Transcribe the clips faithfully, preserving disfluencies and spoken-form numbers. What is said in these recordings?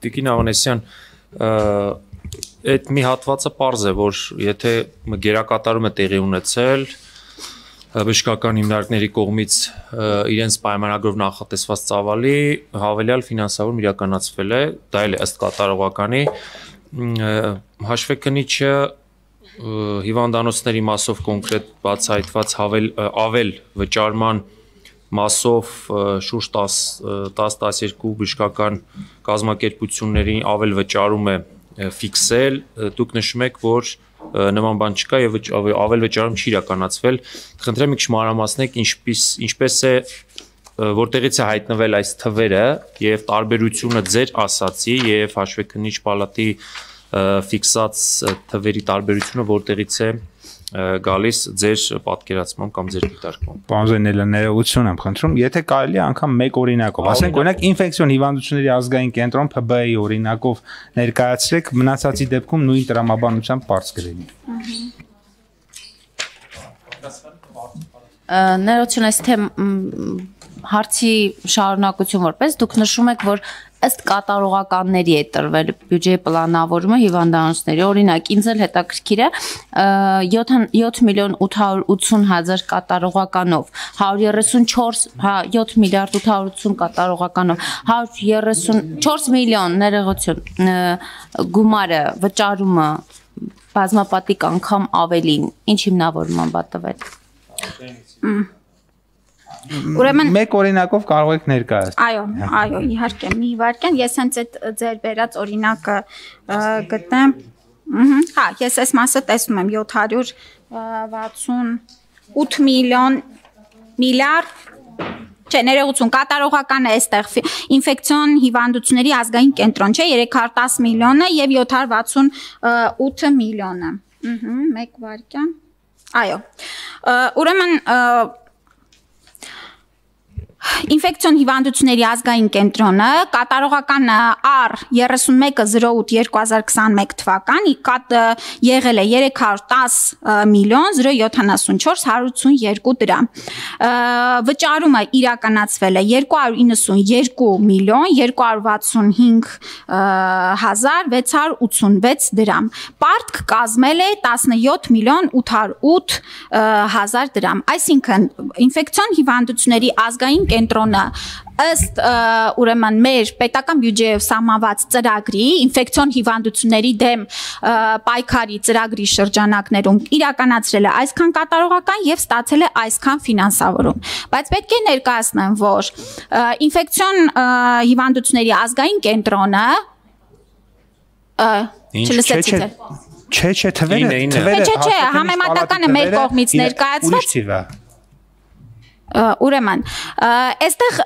Տիկին Ավանեսյան, այդ մի հատվածը պարզ է, որ եթե գերակատարումը տեղի ունեցել, բժշկական հիմնարկների կողմից իրենց պայմանագրով նախատեսված ծավալի հավելյալ ֆինանսավորում իրականացվել է, դա էլ է ըստ կատարողականի, հաշվեկնիչը հիվանդանոցների մասով կոնկրետ բացահայտված ավել վճարման մասով շուրջ տասը-տասներկու բժշկական կազմակերպություններին ավել վճարում է ֆիքսել, դուք նշում եք, որ նման բան չկա եւ ավել վճարում չի իրականացվել, խնդրեմ եք մանրամասնեք ինչպես է, որտեղից է հայտնվել այս թվերը եւ տարբերությունը ձեր ասացի եւ հաշվեկնիչ պալատի ֆիքսած թվերի տարբերությունը որտեղից է գալիս ձեր պատկերացմամբ կամ ձեր դիտարկմամբ։ Պարոն Զեյնալյան, ներողություն եմ խնդրում, եթե կարելի է անգամ մեկ օրինակով, ասենք օրինակ ինֆեկցիոն հիվանդությունների ազգային կենտրոն Փ B-ի օրինակով ներկայացրեք, մնացածի դեպքում նույն տրամաբանությամբ բարձ գրելի։ Ներողություն, այս թե հարցի շարունակություն որպես դուք նշում եք, որ ըստ կատարողականների է տրվել բյուջեի պլանավորումը հիվանդանոցների, օրինակ ինձ էլ հետաքրքիր է յոթ միլիոն ութ հարյուր ութսուն հազար կատարողականով, հարյուր երեսունչորս, յոթ միլիարդ ութ հարյուր ութսուն կատարողականով, հարյուր երեսունչորս միլիոն ներողություն գումարը վճարումը բազմապատիկ անգամ ավելին, ինչ հիմնավորման բատվել։ Ուրեմն մեկ օրինակով կարող եք ներկայացնել։ Այո, այո, իհարկե, մի վարքյան, ես հենց այդ ձեր բերած օրինակը գտնեմ։ Հա, ես այս մասը տեսնում եմ յոթ հարյուր վաթսունութ միլիոն միլիարդ Չէ, ներողություն, կատարողական է այստեղ ինֆեկցիոն հիվանդությունների ազգային կենտրոն, չէ, երեք հարյուր տասը միլիոնը եւ յոթ հարյուր վաթսունութ միլիոնը։ Մեկ վարքյան։ Այո։ Ուրեմն Ինֆեկցիոն հիվանդությունների ազգային կենտրոնը կատարողական R երեսունմեկը զրո ութ երկու հազար քսաներկու թվական եղել է երեք հարյուր տասը միլիոն զրո յոթանասունչորս հարյուր ութսունյերկու դրամ։ Վճարումը իրականացվել է երկու հարյուր իննսունյերկու միլիոն երկու հարյուր վաթսունհինգ հազար վեց հարյուր ութսունվեց դրամ։ Պարտք կազմել է տասնյոթ միլիոն ութ հարյուր ութ հազար դրամ։ Այսինքն ինֆեկցիոն հիվանդությունների ազգային կենտրոնը ըստ ուրեմն մեր պետական բյուջեով սահմանված ծրագրի ինֆեկցիոն հիվանդությունների դեմ պայքարի ծրագրի շրջանակներում իրականացրել է այսքան կատարողական եւ ստացել է այսքան ֆինանսավորում, բայց պետք է ներկայացնեմ, որ ինֆեկցիոն հիվանդությունների ազգային կենտրոնը չլսեցիք Չէ, չէ, թվերը, թվերը Չէ, չէ, համեմատականը մեր կողմից ներկայացված Ուրեմն, այստեղ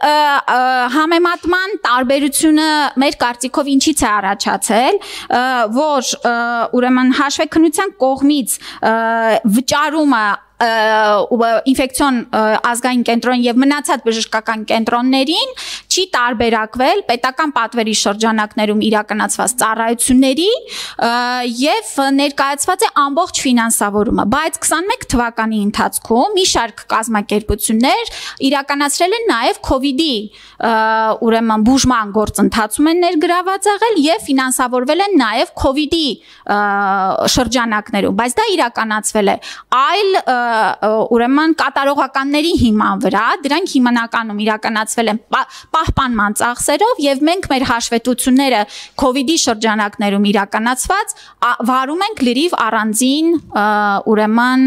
համեմատման տարբերությունը մեր կարծիքով ինչից է առաջացել, որ ուրեմն հաշվեկնության կողմից վճարումը ինֆեկցիոն ազգային կենտրոն եւ մնացած բժշկական կենտրոններին չի տարբերակվել պետական պատվերի շրջանակներում իրականացված ծառայությունների եւ ներկայացված է ամբողջ ֆինանսավորումը, բայց քսաներկու թվականի ընթացքում մի շարք կազմակերպություններ իրականացրել են նաեւ COVID-ի ուրեմն բուժման գործընթացում են ներգրաված եղել եւ ֆինանսավորվել են նաեւ COVID-ի շրջանակներում, բայց դա իրականացվել է այլ ուրեմն կատարողականների հիման վրա, դրանք հիմնականում իրականացվել են պահպանման ծախսերով եւ մենք մեր հաշվետվությունները COVID-ի շրջանակներում իրականացված վարում ենք լրիվ առանձին ուրեմն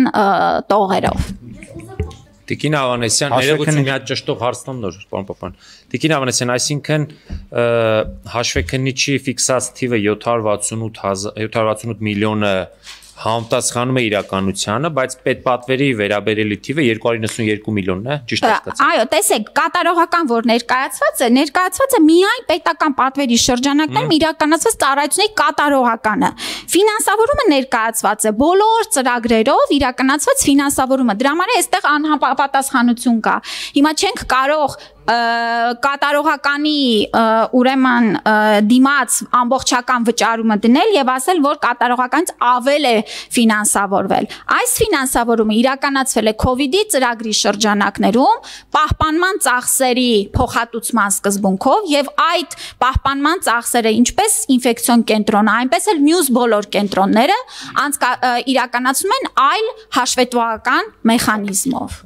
տողերով։ Տիկին Ավանեսյան, ներողություն մի հատ ճշտող հարց տամ նոր, պարոն Պապյան։ Տիկին Ավանեսյան, այսինքն հաշվեկնիչի ֆիքսած թիվը յոթ հարյուր վաթսունութ միլիոնը համապատասխանում է իրականությանը, բայց պետպատվերի վերաբերելի թիվը երկու հարյուր իննսունյերկու միլիոնն է, ճիշտ է ստացա։ Այո, տեսեք, կատարողական որ ներկայացված է, ներկայացված է միայն պետական պատվերի շրջանակներում իրականացված ծառայությունների կատարողականը։ Ֆինանսավորումը ներկայացված է բոլոր ծրագրերով իրականացված ֆինանսավորումը։ Դրա համար այստեղ անհապատասխանություն կա։ Հիմա չենք կարող կատարողականի ուրեմն դիմաց ամբողջական վճարումը դնել եւ ասել, որ կատարողականից ավել է ֆինանսավորվել։ Այս ֆինանսավորումը իրականացվել է COVID-ի ծրագրի շրջանակներում պահպանման ծախսերի փոխհատուցման սկզբունքով եւ այդ պահպանման ծախսերը ինչպես ինֆեկցիոն կենտրոնը, այնպես էլ մյուս բոլոր կենտրոնները իրականացնում են այլ հաշվետվական մեխանիզմով։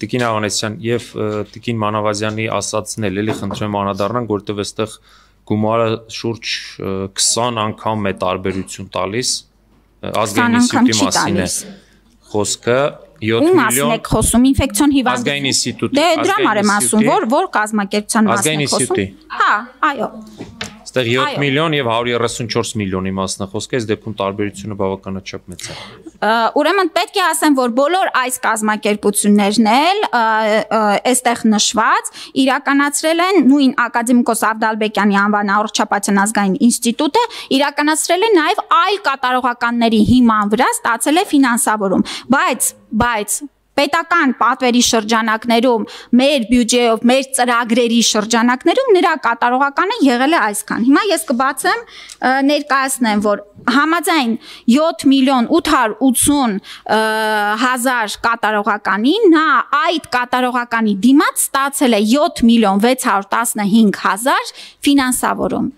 Տիկին Ավանեսյան եւ Տիկին Մանավազյանի ասածն էլ էլի խնդրեմ անդրադառնանք, որտեղ այստեղ գումարը շուրջ քսան անգամ է տարբերություն տալիս ազգային ինստիտուտի մասին է խոսքը յոթ միլիոն եք խոսում ինֆեկցիոն հիվանդ ազգային ինստիտուտի դե դրա համար եմ ասում որ որ կազմակերպության մասին եք խոսում հա այո այստեղ յոթ միլիոն եւ հարյուր երեսունչորս միլիոնի մասն է խոսքը, այս դեպքում տարբերությունը բավականաչափ մեծ է։ Ուրեմն պետք է ասեմ, որ բոլոր այս կազմակերպություններն էլ այստեղ նշված իրականացրել են նույն ակադեմիկոս Ավդալբեկյանի անվան առողջապահության ազգային ինստիտուտը իրականացրել է նաեւ այլ կատարողականների հիման վրա ստացել է ֆինանսավորում, բայց բայց պետական պատվերի շրջանակներում մեր բյուջեով, մեր ծրագրերի շրջանակներում նրա կատարողականը եղել է այսքան։ Հիմա ես կբացեմ ներկայացնեմ, որ համաձայն յոթ միլիոն ութ հարյուր ութսուն հազար կատարողականի նա այդ կատարողականի դիմաց ստացել է յոթ միլիոն վեց հարյուր տասնհինգ հազար ֆինանսավորում։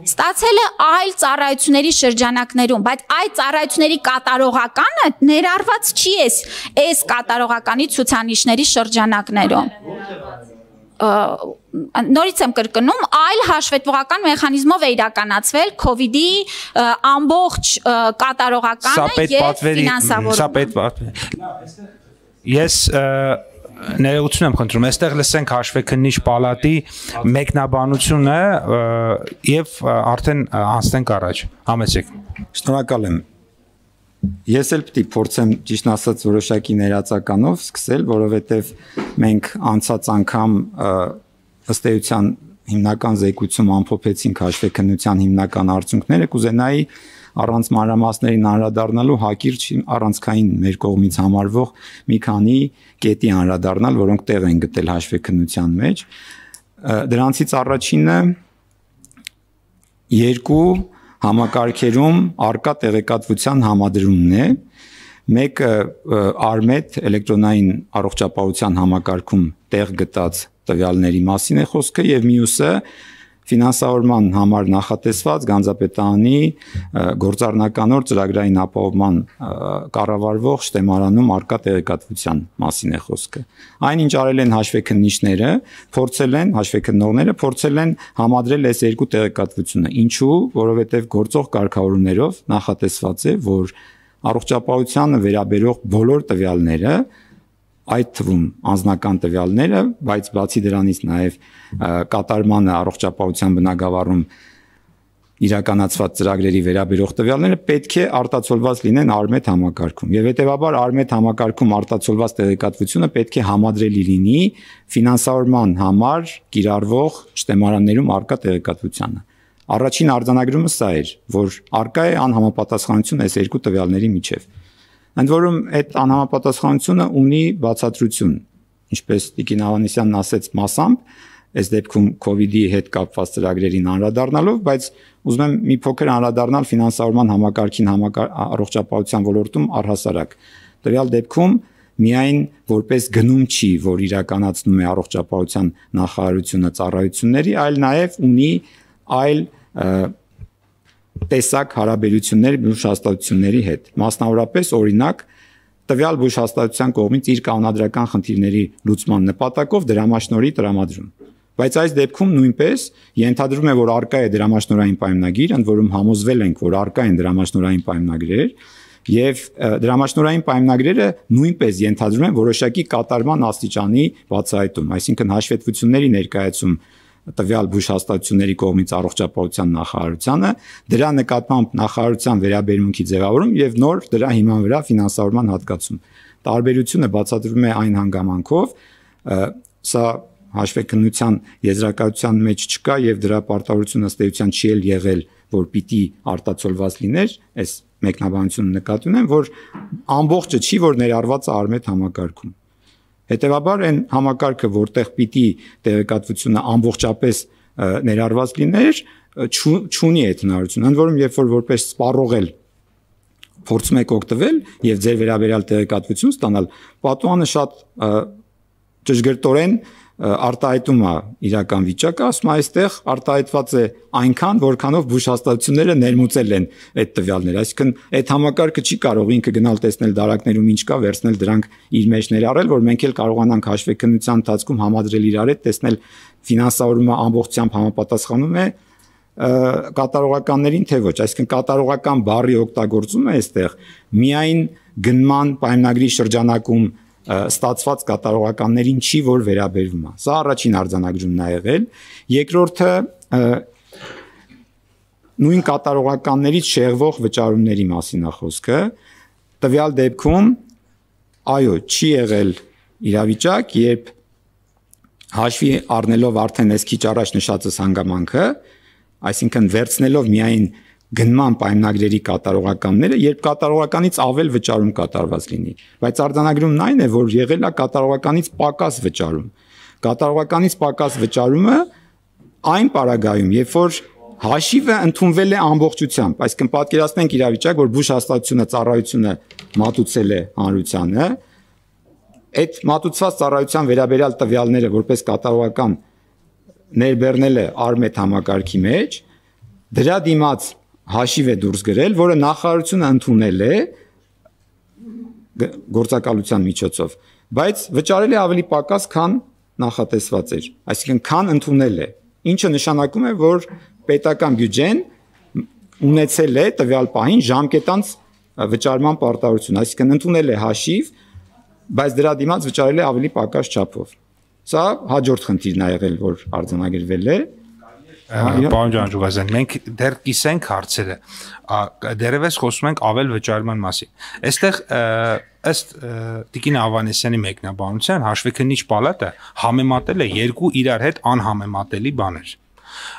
Ստացել է այլ ծառայությունների շրջանակներում, բայց այդ ծառայությունների կատարողականը ներառված չի էս այս կատարողականի ցուցանիշների շրջանակներում։ Նորից եմ կրկնում, այլ հաշվետվողական մեխանիզմով է իրականացվել COVID-ի ամբողջ կատարողականը եւ ֆինանսավորումը։ Սա պետք պատվերի։ Ես ներողություն եմ խնդրում, այստեղ լսենք հաշվեկնիչ պալատի մեկնաբանությունը եւ արդեն անցնենք առաջ։ Համեցեք։ Շնորհակալ եմ։ Ես էլ պետք է փորձեմ ճիշտ ասած որոշակի ներածականով սկսել, որովհետեւ մենք անցած անգամ ըստ էության հիմնական զեկույցում ամփոփեցինք հաշվեկնության հիմնական արդյունքները, կուզենայի առանց մանրամասներին անդրադառնալու հակիրճ առանցքային մեր կողմից համարվող մի քանի կետի անդրադառնալ, որոնք տեղ են գտել հաշվեկնության մեջ։ Դրանցից առաջինը երկու համակարգերում արկա տեղեկատվության համադրումն է։ Մեկը Արմետ էլեկտրոնային առողջապահության համակարգում տեղ գտած տվյալների մասին է խոսքը եւ մյուսը ֆինանսավորման համար նախատեսված Գանձապետարանի գործառնականոր ծրագրային ապահովման կառավարվող շտեմարանում արկա տեղեկատվության մասին է խոսքը։ Այնինչ արել են հաշվեկնիչները, փորձել են հաշվեկնողները փորձել են համադրել այս երկու տեղեկատվությունը։ Ինչու՞, որովհետև գործող կարգավորումներով նախատեսված է, որ առողջապահությանը վերաբերող բոլոր տվյալները այդ թվում անձնական տվյալները, բայց բացի դրանից նաև կատարմանը առողջապահության բնագավառում իրականացված ծրագրերի վերաբերող տվյալները պետք է արտացոլված լինեն Արմետ համակարգում։ Եվ հետևաբար Արմետ համակարգում արտացոլված տեղեկատվությունը պետք է համադրելի լինի ֆինանսավորման համար կիրառվող շտեմարաններում արկա տեղեկատվությանը։ Առաջին արձանագրումը սա էր, որ արկա է անհամապատասխանություն այս երկու տվյալների միջև։ Ընդ որում այդ անհամապատասխանությունը ունի բացատրություն, ինչպես Տիկին Ավանեսյանն ասեց մասամբ, այս դեպքում COVID-ի հետ կապված ծրագրերին անդրադառնալով, բայց ուզում եմ մի փոքր անդրադառնալ ֆինանսավորման համակարգին առողջապահության ոլորտում առհասարակ։ Տվյալ դեպքում միայն որպես գնում չի, որ իրականացնում է առողջապահության նախարարությունը ծառայությունների, այլ նաև ունի այլ տեսակ հարաբերություններ բուժհաստատությունների հետ։ Մասնավորապես օրինակ տվյալ բուժհաստատության կողմից իր կանոնադրական խնդիրների լուծման նպատակով դրամաշնորհի տրամադրում։ Բայց այս դեպքում նույնպես ենթադրվում է, որ արկա է դրամաշնորհային պայմանագիր, ընդ որում համոզվել ենք, որ արկա են դրամաշնորհային պայմանագրեր, եւ դրամաշնորհային պայմանագրերը նույնպես ենթադրում են որոշակի կատարման աստիճանի բացահայտում, այսինքն հաշվետվությունների ներկայացում տվյալ բուժհաստատությունների կողմից առողջապահության նախարարությանը, դրա նկատմամբ նախարարության վերաբերմունքի ձևավորում եւ նոր դրա հիման վրա ֆինանսավորման հատկացում։ Տարբերությունը բացատրվում է այն հանգամանքով, սա հաշվեկնության եզրակացության մեջ չկա եւ դրա պարտավորությունը ըստ էության չի էլ եղել, որ պիտի արտացոլված լիներ, այս մեկնաբանությունը նկատի ունեմ, որ ամբողջը չի, որ ներառված է Արմետ համակարգում։ Հետևաբար այն համակարգը, որտեղ պիտի տեղեկատվությունը ամբողջապես ներառված լիներ, չունի այդ հնարավորությունը։ Ընդ որում, երբ որ որպես սպառող էլ փորձում եք օգտվել եւ ձեր վերաբերյալ տեղեկատվություն ստանալ, պատուհանը շատ ճշգրտորեն արտահայտում է իրական վիճակը, ասում է այստեղ արտահայտված է այնքան, որքանով բուժ հաստատությունները ներմուծել են այդ տվյալները, այսինքն այդ համակարգը չի կարող ինքը գնալ տեսնել դարակներում ինչ կա, վերցնել դրանք իր մեջ ներառել, որ մենք էլ կարողանանք հաշվեկնության ընթացքում համադրել իրար հետ, տեսնել ֆինանսավորումը ամբողջությամբ համապատասխանում է կատարողականներին թե ոչ, այսինքն կատարողական բառի օգտագործումը այստեղ միայն գնման պայմանագրի շրջանակում ստացված կատարողականներին չի, որ վերաբերվում է։ Սա առաջին արձանագրումն է եղել։ Երկրորդը նույն կատարողականներից շեղվող վճարումների մասին է խոսքը։ Տվյալ դեպքում այո, չի եղել իրավիճակ, երբ հաշվի առնելով արդեն այս քիչ առաջ նշածս հանգամանքը, այսինքն վերցնելով միայն գնման պայմանագրերի կատարողականները, երբ կատարողականից ավել վճարում կատարված լինի, բայց արձանագրումն այն է, որ եղել է կատարողականից պակաս վճարում։ Կատարողականից պակաս վճարումը այն պարագայում, երբ որ հաշիվը ընդունվել է ամբողջությամբ, այսինքն պատկերացնենք իրավիճակ, որ բուժ հաստատությունը ծառայությունը մատուցել է հանրությանը, այդ մատուցված ծառայության վերաբերյալ տվյալները որպես կատարողական ներբեռնել է Արմետ համակարգի մեջ, դրա դիմաց հաշիվ է դուրս գրել, որը նախարարությունը ընդունել է գործակալության միջոցով, բայց վճարել է ավելի պակաս, քան նախատեսված էր, այսինքն քան ընդունել է, ինչը նշանակում է, որ պետական բյուջեն ունեցել է տվյալ պահին ժամկետանց վճարման պարտավորություն, այսինքն ընդունել է հաշիվ, բայց դրա դիմաց վճարել է ավելի պակաս չափով։ Սա հաջորդ խնդիրն է եղել, որ արձանագրվել է։ Պարոն Ջանջուղազյան, մենք դեռ կիսենք հարցերը, դեռևս խոսում ենք ավել վճարման մասին։ Այստեղ ըստ Տիկին Ավանեսյանի մեկնաբանության հաշվեկնիչ պալատը համեմատել է երկու իրար հետ անհամեմատելի բաներ։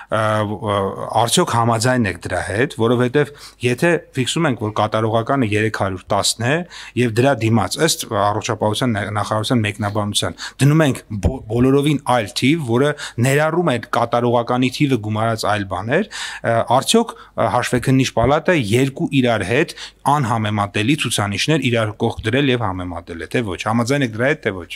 Արդյոք համաձայն եք դրա հետ, որովհետև եթե ֆիքսում ենք, որ կատարողականը երեք հարյուր տասն է եւ դրա դիմաց ըստ առողջապահության նախարարության մեկնաբանության դնում ենք բոլորովին այլ թիվ, որը ներառում է կատարողականի թիվը գումարած այլ բաներ, արդյոք հաշվեկնիչ պալատը երկու իրար հետ անհամեմատելի ցուցանիշներ իրար կողք դրել եւ համեմատել է, թե ոչ, համաձայն եք դրա հետ, թե ոչ։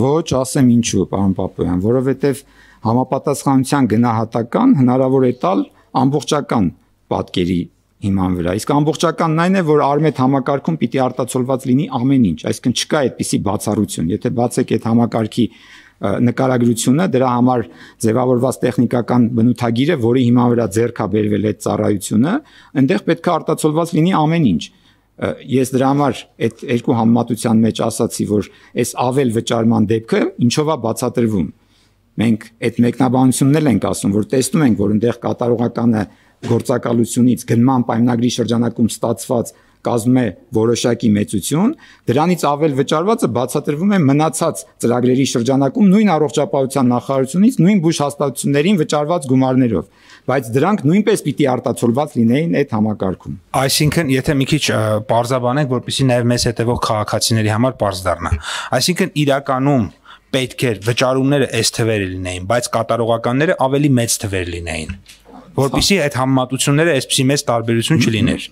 Ոչ, ասեմ ինչու, պարոն Պապոյան, որովհետև համապատասխանության գնահատական հնարավոր է տալ ամբողջական պատկերի հիման վրա։ Իսկ ամբողջականն այն է, որ Արմետ համակարգում պիտի արտացոլված լինի ամեն ինչ, այսինքն չկա այդպիսի բացառություն։ Եթե բացեք այդ համակարգի նկարագրությունը, դրա համար ձևավորված տեխնիկական բնութագիրը, որի հիման վրա ձեռք է բերվել այդ ծառայությունը, այնտեղ պետք է արտացոլված լինի ամեն ինչ։ Ես դրա համար այդ երկու համեմատության մեջ ասացի, որ այս ավել վճարման դեպքը ինչով է բացատրվում։ Մենք այդ մեկնաբանությունն էլ ենք ասում, որ տեսնում ենք, որ այնտեղ կատարողականը գործակալությունից գնման պայմանագրի շրջանակում ստացված կազմում է որոշակի մեծություն, դրանից ավել վճարվածը բացատրվում է մնացած ծրագրերի շրջանակում նույն առողջապահության նախարարությունից նույն բուժ հաստատություններին վճարված գումարներով, բայց դրանք նույնպես պիտի արտացոլված լինեին այդ համակարգում։ Այսինքն, եթե մի քիչ պարզաբանենք, որպեսզի նաև մեզ հետևող քաղաքացիների համար պարզ դառնա, այսինքն իրականում պետք է վճարումները այս թվերը լինեին, բայց կատարողականները ավելի մեծ թվեր լինեին, որպեսզի այդ համեմատությունները այսպեսի մեծ տարբերություն չլիներ։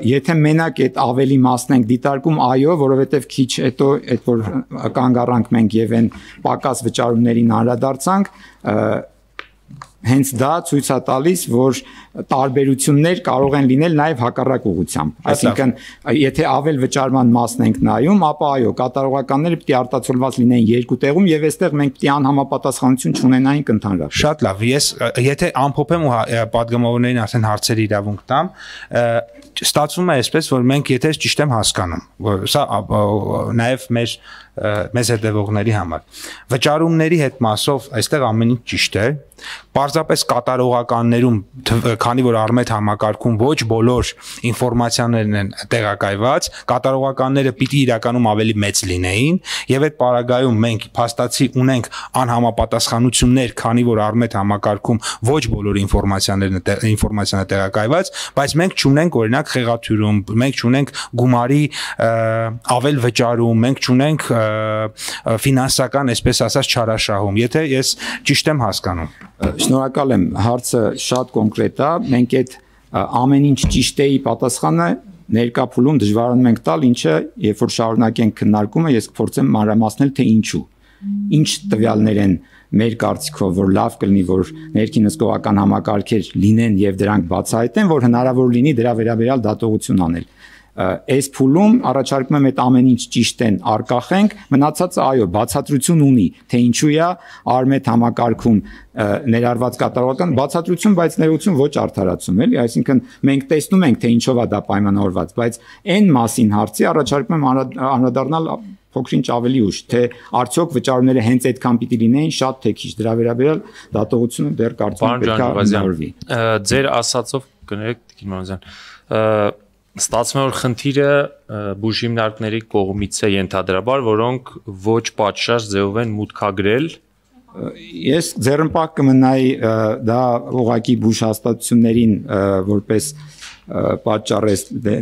Եթե մենակ այդ ավելի մասն ենք դիտարկում, այո, որովհետև քիչ հետո այդ որ կանգ առանք մենք եւ այն պակաս վճարումներին անդրադարձանք, հենց դա ցույց է տալիս, որ տարբերություններ կարող են լինել նաև հակառակ ուղղությամբ։ Այսինքն, եթե ավել վճարման մասն ենք նայում, ապա այո, կատարողականները պիտի արտացոլված լինեին երկու տեղում եւ այստեղ մենք պիտի անհամապատասխանություն չունենայինք ընդհանրապես։ Շատ լավ, ես եթե ամփոփեմ ու падգամավորներին արդեն հարցերի իրավունք տամ, ստացվում է այսպես, որ մենք եթե ճիշտ եմ հասկանում, որ սա նաև մեր մեզ հետևողների համար վճարումների հետ մասով այստեղ ամեն ինչ ճիշտ է, պարզապես կատարողականներում, քանի որ Արմետ համակարգում ոչ բոլոր ինֆորմացիաներն են տեղակայված, կատարողականները պիտի իրականում ավելի մեծ լինեին եւ այդ պարագայում մենք փաստացի ունենք անհամապատասխանություններ, քանի որ Արմետ համակարգում ոչ բոլոր ինֆորմացիաներն ինֆորմացիան է տեղակայված, բայց մենք չունենք օրինակ խեղաթյուրում, մենք չունենք գումարի ավել վճարում, մենք չունենք ֆինանսական, այսպես ասած, չարաշահում, եթե ես ճիշտ եմ հասկանում։ Շնորհակալ եմ, հարցը շատ կոնկրետ է, մենք այդ ամեն ինչ ճիշտ էի պատասխանը ներկա փուլում դժվարանում ենք տալ, ինչը երբ որ շարունակենք քննարկումը, ես կփորձեմ մանրամասնել, թե ինչու։ Ինչ տվյալներ են մեր կարծիքով, որ լավ կլինի, որ ներքին հսկողական համակարգեր լինեն եւ դրանք բացահայտեն, որ հնարավոր լինի դրա վերաբերյալ դատողություն անել։ Այս փուլում առաջարկում եմ այդ ամեն ինչ ճիշտ են արկախենք, մնացածը այո, բացատրություն ունի, թե ինչու է արմետ համակարգում ներառված կատարողական բացատրություն, բայց ներողություն ոչ արդարացում, էլի, այսինքն մենք տեսնում ենք, թե ինչով է դա պայմանավորված, բայց այն մասին հարցի առաջարկում եմ անդրադառնալ փոքրինչ ավելի ուշ, թե արդյոք վճարումները հենց այդքան պիտի լինեին, շատ թե քիչ, դրա վերաբերյալ դատողությունը դեռ կարծում եմ պետք է հնարավորվի։ Ձեր ասածով կներեք Տիկին Մանուկյան, ստացվում է որ խնդիրը բուժիմնարկների կողմից է ենթադրաբար, որոնք ոչ պատշաճ ձևով են մուտքագրել։ Ես ձեռնպահ կմնայի դա ուղղակի բուժ հաստատություններին որպես պատճառ է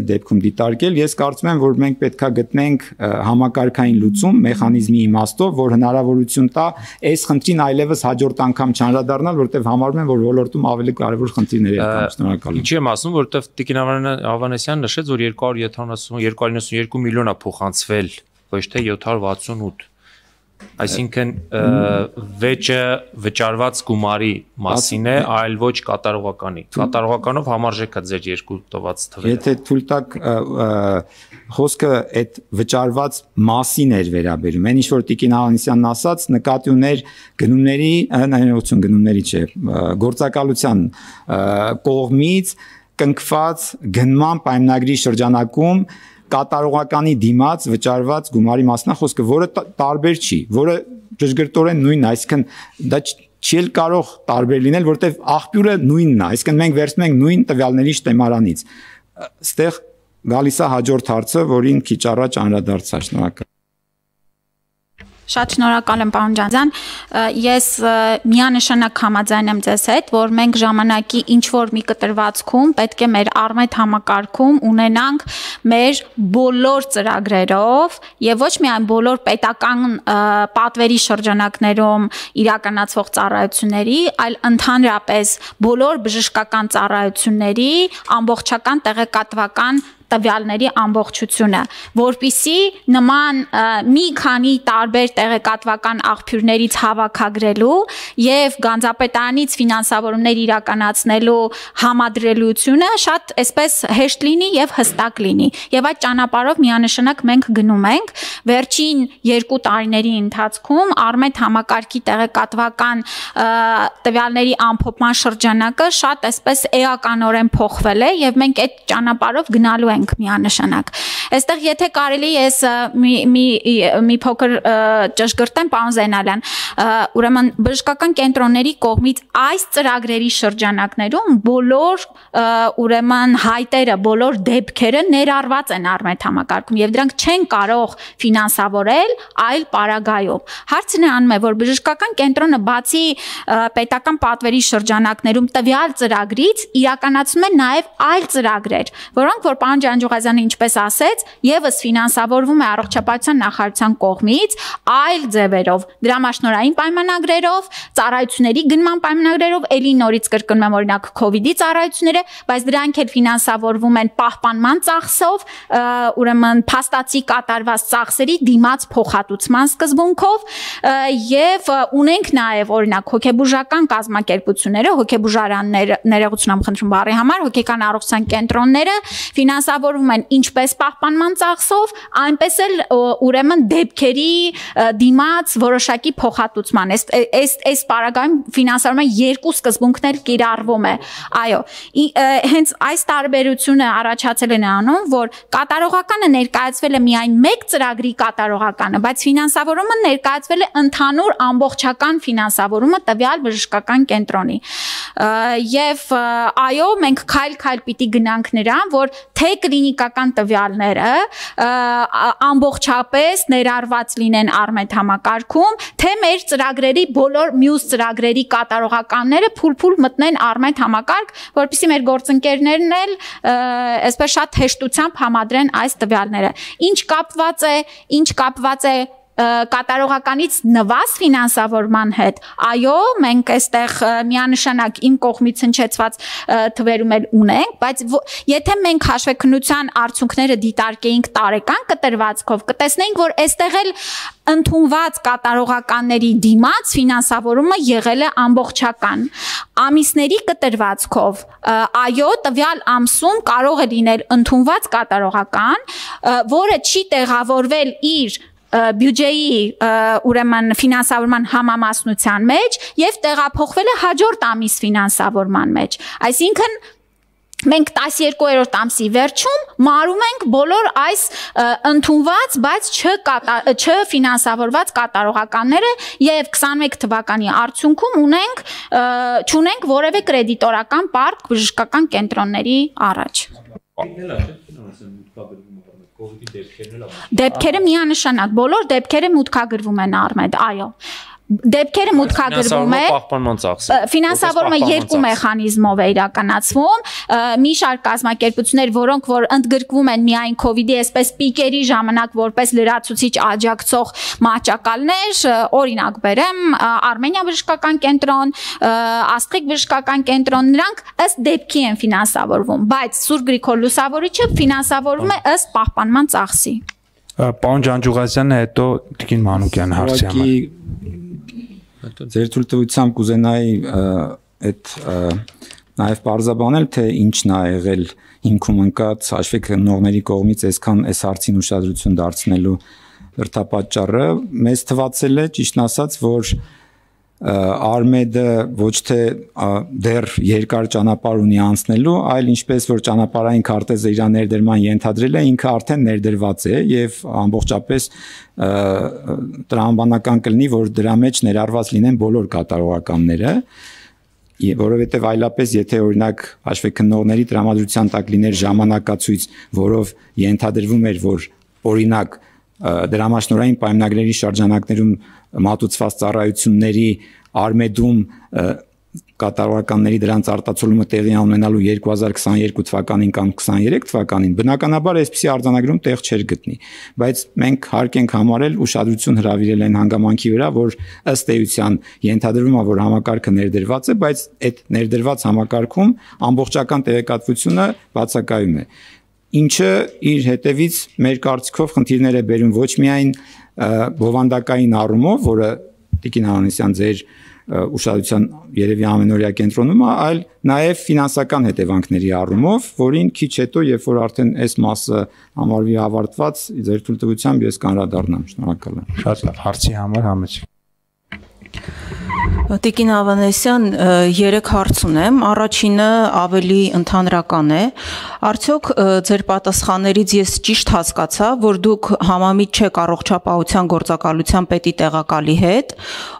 դեպքում դիտարկել, ես կարծում եմ, որ մենք պետքա գտնենք համակարգային լուծում մեխանիզմի իմաստով, որ հնարավորություն տա այս խնդրին այլևս հաջորդ անգամ չանդրադառնալ, որտեղ համարում եմ, որ ոլորտում ավելի կարևոր խնդիրներ կան։ Շնորհակալ եմ։ Ինչի եմ ասում, որտեղ Տիկին Ավանեսյանը նշեց, որ երկու հարյուր իննսուն երկու միլիոն է փոխանցվել, ոչ թե յոթ հարյուր վաթսունութ։ Այսինքն վեճը վճարված գումարի մասին է, այլ ոչ կատարողականի։ Կատարողականով համարժեք է ձեր երկու տված թվերը։ Եթե թույլ տաք խոսքը այդ վճարված մասին էր վերաբերում։ Այն ինչ որ Տիկին Ավանեսյանն ասաց, նկատի ուներ գնումների, ներողություն, գնումների չէ, գործակալության կողմից կնքված գնման պայմանագրի շրջանակում կատարողականի դիմաց վճարված գումարի մասնա խոսքը, որը տարբեր չի, որը ճշգրտորեն նույնն է, այսինքն դա չի կարող տարբեր լինել, որտեղ աղբյուրը նույնն է, այսինքն մենք վերցնում ենք նույն տվյալների շտեմարանից։ Այստեղ գալիս է հաջորդ հարցը, որին քիչ առաջ անդրադարձա, շնորհակալ։ Շատ շնորհակալ եմ պարոն Ջանձյան, ես միանշանակ համաձայն եմ ձեզ հետ, որ մենք ժամանակի ինչ որ մի կտրվածքում պետք է մեր արմետ համակարգում ունենանք մեր բոլոր ծրագրերով եւ ոչ միայն բոլոր պետական պատվերի շրջանակներում իրականացվող ծառայությունների, այլ ընդհանրապես բոլոր բժշկական ծառայությունների ամբողջական տեղեկատվական տվյալների ամբողջությունը, որպիսի նման մի քանի տարբեր տեղեկատվական աղբյուրներից հավաքագրելու եւ գանձապետարանից ֆինանսավորումներ իրականացնելու համադրելությունը շատ այսպես հեշտ լինի եւ հստակ լինի։ Եվ այդ ճանապարհով միանշանակ մենք գնում ենք վերջին երկու տարիների ընթացքում արմետ համակարգի տեղեկատվական տվյալների ամփոփման շրջանակը շատ այսպես էականորեն փոխվել է եւ մենք այդ ճանապարհով գնալու ենք միանշանակ։ Այստեղ եթե կարելի ես մի մի մի փոքր ճշգրտեմ պարոն Զենալյան, ուրեմն բժշկական կենտրոնների կողմից այս ծրագրերի շրջանակներում բոլոր ուրեմն հայտերը, բոլոր դեպքերը ներառված են արմետ համակարգում եւ դրանք չեն կարող ֆինանսավորել այլ պարագայում։ Հարցն է անում է, որ բժշկական կենտրոնը բացի պետական պատվերի շրջանակներում տվյալ ծրագրից իրականացնում է նաեւ այլ ծրագրեր, որոնք որ պարոն Ջանջուղազյանը ինչպես ասեց, եւս ֆինանսավորվում է առողջապահության նախարարության կողմից այլ ձևերով, դրամաշնորհային պայմանագրերով, ծառայությունների գնման պայմանագրերով, ելի նորից կրկնում եմ օրինակ COVID-ի ծառայությունները, բայց դրանք էլ ֆինանսավորվում են պահպանման ծախսով, ուրեմն փաստացի կատարված ծախսերի դիմաց փոխհատուցման սկզբունքով եւ ունենք նաեւ օրինակ հոգեբուժական կազմակերպությունները, հոգեբուժարանները, ներողություն եմ խնդրում բառի համար, հոգեկան առողջության կենտրոնները ֆինանսավորվում են ինչպես պահպանման ծախսով, այնպես էլ ուրեմն դեպքերի դիմաց որոշակի փոխհատուցման։ Այս այս այս պարագայում ֆինանսավորումը երկու սկզբունքներ կիրառվում է։ Այո, հենց այս տարբերությունը առաջացել է նրանում, որ կատարողականը ներկայացվել է միայն մեկ ծրագրի կատարողականը, բայց ֆինանսավորումը ներկայացվել է ընդհանուր ամբողջական ֆինանսավորումը տվյալ բժշկական կենտրոնի։ Եվ այո, մենք քայլ-քայլ պիտի գնանք նրան, որ թե կլինիկական տվյալները ամբողջապես ներառված լինեն արմետ համակարգում, թե մեր ծրագրերի բոլոր մյուս ծրագրերի կատարողականները փուլ-փուլ մտնեն արմետ համակարգ, որպեսզի մեր գործընկերներն էլ այսպես շատ հեշտությամբ համադրեն այս տվյալները։ Ինչ կապված է, ինչ կապված է կատարողականից նվազ ֆինանսավորման հետ, այո, մենք այստեղ միանշանակ իմ կողմից հնչեցված թվերում էլ ունենք, բայց եթե մենք հաշվեկնության արդյունքները դիտարկեինք տարեկան կտրվածքով, կտեսնեինք, որ այստեղ էլ ընդունված կատարողականների դիմաց ֆինանսավորումը եղել է ամբողջական։ Ամիսների կտրվածքով, այո, տվյալ ամսում կարող է լինել ընդունված կատարողական, որը չի տեղավորվել իր բյուջեի ուրեմն ֆինանսավորման համամասնության մեջ եւ տեղափոխվել է հաջորդ ամիս ֆինանսավորման մեջ։ Այսինքն մենք տասներկուերորդ ամսի վերջում մարում ենք բոլոր այս ընդունված, բայց չֆինանսավորված կատարողականները եւ քսանմեկ թվականի արդյունքում ունենք չունենք որևէ կրեդիտորական պարկ բժշկական կենտրոնների առաջ։ Դեպքերը միանշանակ, բոլոր դեպքերը մուտքագրվում են Արմեդ, այո։ Դեպքերը մուտքագրվում է ֆինանսավորումը երկու մեխանիզմով է իրականացվում, մի շարք կազմակերպություններ, որոնք որ ընդգրկվում են միայն COVID-ի այսպես պիկերի ժամանակ որպես լրացուցիչ աջակցող մահճակալներ, օրինակ բերեմ Արմենիա բժշկական կենտրոն, Աստղիկ բժշկական կենտրոն, նրանք ըստ դեպքի են ֆինանսավորվում, բայց Սուրբ Գրիգոր Լուսավորիչը ֆինանսավորվում է ըստ պահպանման ծախսի։ Պարոն Ջանջուղազյանը հետո Տիկին Մանուկյանը հարցի համար։ Ձեր թույլտվությամբ կուզենայի այդ նաև բարձաբանել, թե ինչն է եղել հիմքում ընկած հաշվեկնողների կողմից այսքան այս հարցին ուշադրություն դարձնելու դրդապատճառը։ Մեզ թվացել է, ճիշտն ասած, որ Արմեդը ոչ թե դեռ երկար ճանապարհ ունի անցնելու, այլ ինչպես որ ճանապարհային քարտեզը իր ներդրման ենթադրել է, ինքը արդեն ներդրված է եւ ամբողջապես տրամաբանական կլինի, որ դրա մեջ ներառված լինեն բոլոր կատարողականները, որովհետեւ այլապես եթե օրինակ հաշվեկնողների տրամադրության տակ լիներ ժամանակացույց, որով ենթադրվում էր, որ օրինակ դրամաշնորհային պայմանագրերի շրջանակներում մատուցված ծառայությունների Արմեդում կատարողականների դրանց արտացոլումը տեղի ունենալու երկու հազար քսաներկու թվականին կամ քսաներեք թվականին բնականաբար այսպիսի արձանագրում տեղ չէր գտնի, բայց մենք հարկ ենք համարել ուշադրություն հրավիրել այն հանգամանքի վրա, որ ըստ էության ենթադրվում է, որ համակարգը ներդրված է, բայց այդ ներդրված համակարգում ամբողջական տեղեկատվությունը բացակայում է, ինչը իր հետևից մեր կարծիքով խնդիրներ է բերում ոչ միայն բովանդակային առումով, որը Տիկին Անանեսյան ձեր ուշադրության երևի ամենօրյա կենտրոնում է, այլ նաև ֆինանսական հետևանքների առումով, որին քիչ հետո, երբ որ արդեն այս մասը համարվի ավարտված, ձեր թույլտվությամբ ես կանրադառնամ։ Շնորհակալ եմ։ Շատ լավ, հարցի համար համեցեք։ Տիկին Ավանեսյան, երեք հարց ունեմ, առաջինը ավելի ընդհանրական է, արդյոք ձեր պատասխաններից ես ճիշտ հասկացա, որ դուք համամիտ չեք առողջապահության գործակալության պետի տեղակալի հետ,